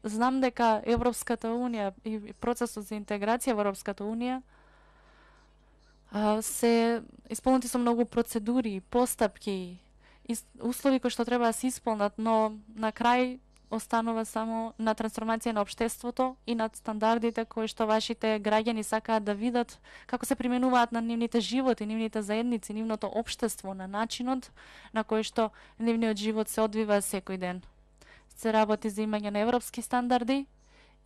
знам дека Европската унија и процесот за интеграција во Европската унија се исполнети со многу процедури, постапки, услови кои што треба да се исполнат, но на крај останува само на трансформација на општеството и над стандардите кои што вашите граѓани сакаат да видат како се применуваат на нивните животи, нивните заедници, нивното општество, на начинот на кој што нивниот живот се одвива секој ден. Се работи за имање на европски стандарди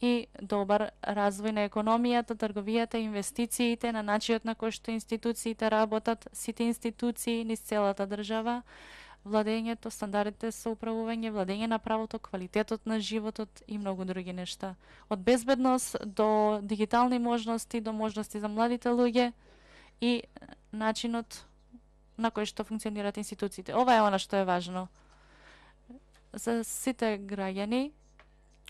и добар развој на економијата, трговијата, инвестициите, на начинот на кој што институциите работат, сите институции низ целата држава, владењето, стандардите со управување, владење на правото, квалитетот на животот и многу други нешта. Од безбедност до дигитални можности, до можности за младите луѓе и начинот на кој што функционираат институциите. Ова е она што е важно за сите граѓани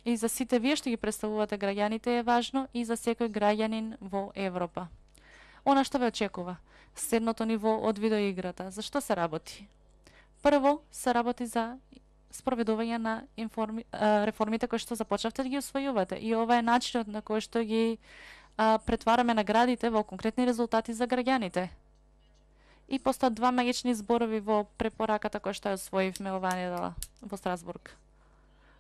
и за сите вие што ги представувате граѓаните е важно и за секој граѓанин во Европа. Она што ве очекува, следното ниво од видеоиграта. За што се работи? Прво се работи за спроведување на реформите кои што започнавте да ги усвојувате. И ова е начинот на кој што ги претвараме наградите во конкретни резултати за граѓаните. И постојат два магични зборови во препораката која што ја усвоивме оваа недела во Страсбург.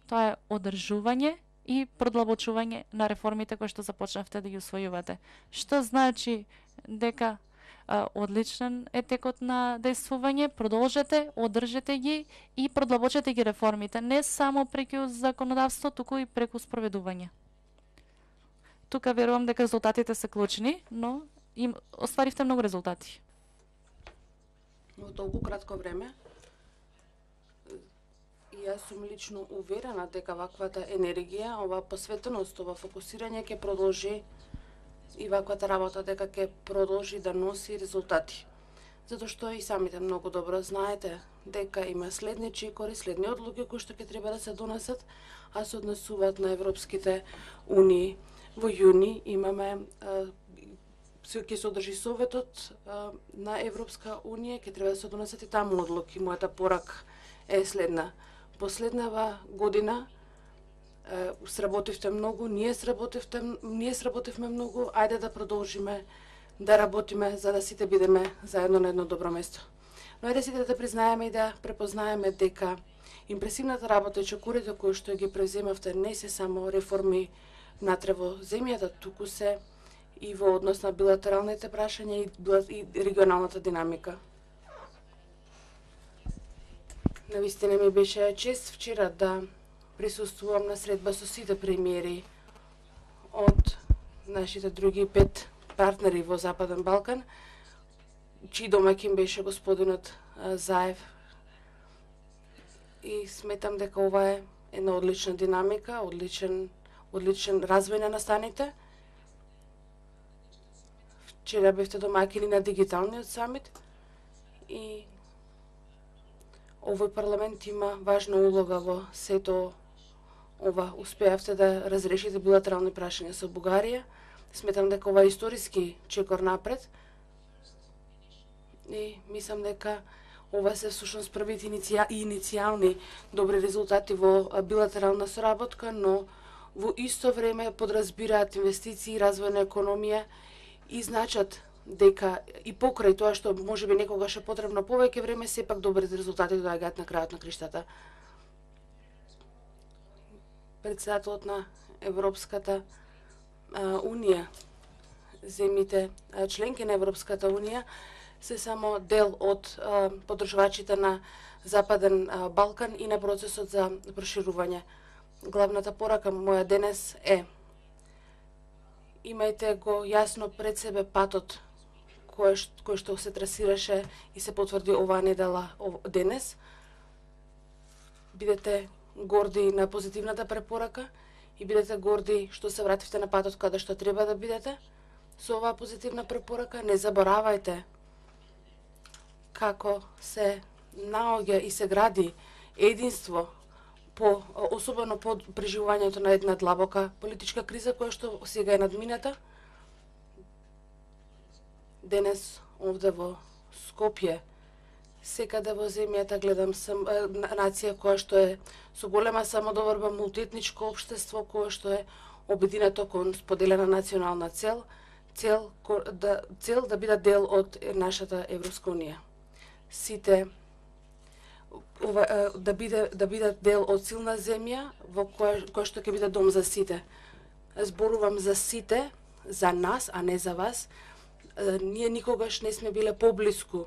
Тоа е одржување и продлабочување на реформите кои што започнавте да ги усвојувате. Што значи дека одличен е текот на дејствување, продолжете, одржете ги и продлабочете ги реформите, не само преку законодавство, туку и преку спроведување. Тука верувам дека резултатите се клучни, но им остваривте многу резултати. Во толку кратко време, и јас сум лично уверена дека ваквата енергија, ова посветеност, ова фокусирање ќе продолжи и ваквата работа дека ќе продолжи да носи резултати. Затоа што и самите многу добро знаете дека има следни чекори, следни одлуки кои што ќе треба да се донесат, а се однесуваат на Европските унии. Во јуни имаме ќе се одржи Советот на Европска унија, ќе треба да се донесат и таму одлуки. Мојата порака е следна. Последнава година сработивте многу, ние сработивме многу, ајде да продолжиме да работиме за да сите бидеме заедно на едно добро место. Но ајде сите да признаеме и да препознаеме дека импресивната работа и чекорите кои што ги превземавте не се само реформи натре во земјата, туку се и во однос на билатералните прашања и регионалната динамика. Навистина ми беше чест вчера да присуствувам на средба со сите премиери од нашите други 5 партнери во Западен Балкан, чиј домаќин беше господинот Заев. И сметам дека ова е една одлична динамика, одличен развој на настаните. Вчера бевте домаќини на дигиталниот самит и овој парламент има важна улога во сето ова. Успеавте да разрешите билатерални прашања со Бугарија. Сметам дека ова е историски чекор напред и мислам дека ова се всушност првите иницијални добри резултати во билатерална соработка, но во исто време подразбираат инвестиции и развој на економија и значат дека и покрај тоа што можеби некогаш е потребно повеќе време, сепак добрите резултати доаѓаат на крајот на криштата. Председателот на Европската унија, земјите членки на Европската унија се само дел од поддржувачите на Западен Балкан и на процесот за проширување. Главната порака моја денес е: имајте го јасно пред себе патот кој што се трасираше и се потврди оваа недела денес. Бидете горди на позитивната препорака и бидете горди што се вративте на патот каде што треба да бидете. Со оваа позитивна препорака не заборавајте како се наоѓа и се гради единство, особено по преживувањето на една длабока политичка криза која што сега е надмината. Денес овде во Скопје Секаде во земјата гледам нација која што е со голема самодоварба, мултиетничко општество кое што е обединето кон споделена национална цел да бидат дел од нашата Европска унија. Сите да бидат дел од силна земја во која што ќе биде дом за сите. Зборувам за сите, за нас, а не за вас. Ние никогаш не сме биле поблиску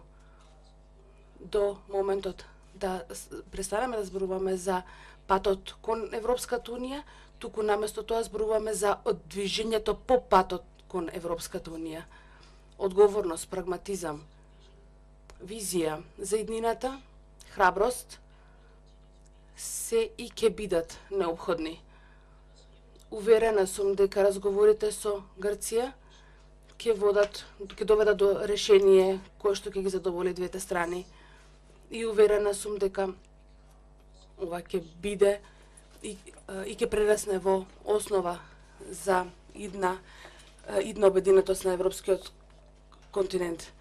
до моментот да престанеме да зборуваме за патот кон Европската унија, туку наместо тоа зборуваме за движењето по патот кон Европската унија. Одговорност, прагматизам, визија за иднината, храброст се и ќе бидат необходни. Уверена сум дека разговорите со Грција ќе доведат до решение кое што ќе ги задоволи двете страни. И уверена сум дека ова ќе биде и ќе прерасне во основа за идна обединетост на европскиот континент.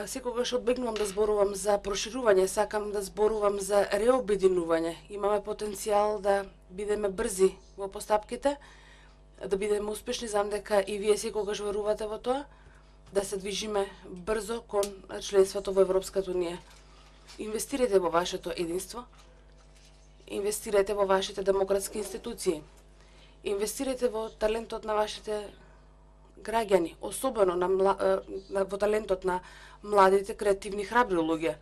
Секогаш одбегнувам да зборувам за проширување, сакам да зборувам за реобединување. Имаме потенцијал да бидеме брзи во постапките, да бидеме успешни, знам дека и вие секогаш верувате во тоа, да се движиме брзо кон членството во Европската унија. Инвестирайте во вашето единство, инвестирайте во вашите демократски институции, инвестирайте во талентот на вашите граѓани, особено во талентот на младите, креативни, храбри луѓе.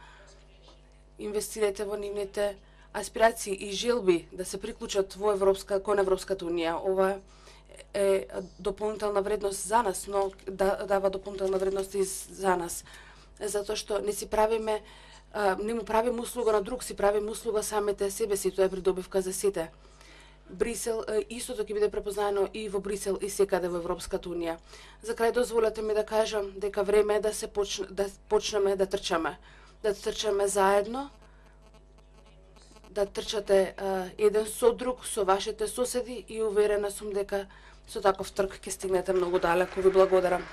Инвестирайте во нивните аспирации и желби да се приклучат кон Европската унија. Ова е дополнителна вредност за нас, но дава дополнителна вредност и за нас. Затоа што не му правиме услуга на друг, си правиме услуга самите себе си, тоа е придобивка за сите. Брисел, истото ќе биде препознаено и во Брисел и секаде во Европската унија. За крај дозволете ми да кажам дека време е да почнеме да трчаме заедно, да трчате еден со друг, со вашите соседи и уверена сум дека со таков трк ќе стигнете многу далеку. Ви благодарам.